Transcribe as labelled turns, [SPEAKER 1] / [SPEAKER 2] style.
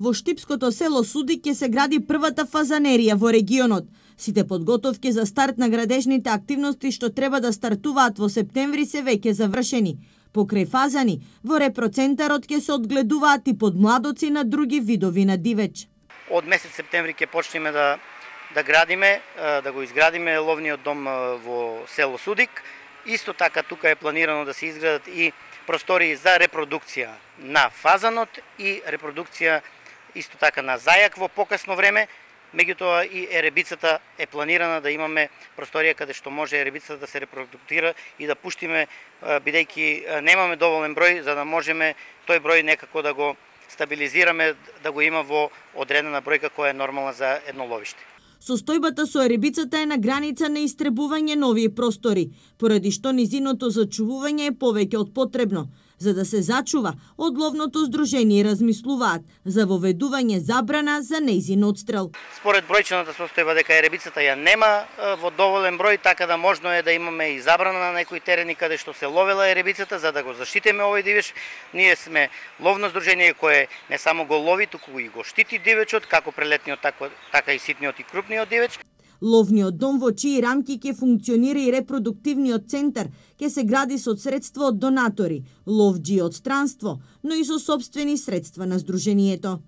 [SPEAKER 1] Во Штипското село Судик ќе се гради првата фазанерија во регионот. Сите подготовки за старт на градежните активности што треба да стартуваат во септември се веќе завршени. Покрај фазани, во репроцентарот ќе се одгледуваат и подмладоци на други видови на дивеч.
[SPEAKER 2] Од месец септември ќе почнеме да градиме, да го изградиме ловниот дом во село Судик. Исто така тука е планирано да се изградат и простории за репродукција на фазанот и репродукција исто така на зајак во покасно време. Меѓутоа и еребицата е планирана да имаме просторија каде што може еребицата да се репродуктира и да пуштиме, бидејќи немаме доволен број, за да можеме тој број некако да го стабилизираме, да го има во одредена бројка која е нормална за едно ловиште.
[SPEAKER 1] Состојбата со еребицата е на граница на истребување нови простори, поради што низиното зачувување е повеќе од потребно. За да се зачува, од ловното здружение размислуваат за воведување забрана за нејзин одстрел.
[SPEAKER 2] Според бројчената состојба дека еребицата ја нема во доволен број, така да можно е да имаме и забрана на некои терени каде што се ловела еребицата за да го заштитиме овој дивеч. Ние сме ловно здружение кое не само го лови, туку и го штити дивечот, како прелетниот, така и ситниот и крупниот дивеч.
[SPEAKER 1] Ловниот дом во чии рамки ќе функционира и репродуктивниот центар ќе се гради со средства од донатори, ловџи од странство, но и со сопствени средства на здружението.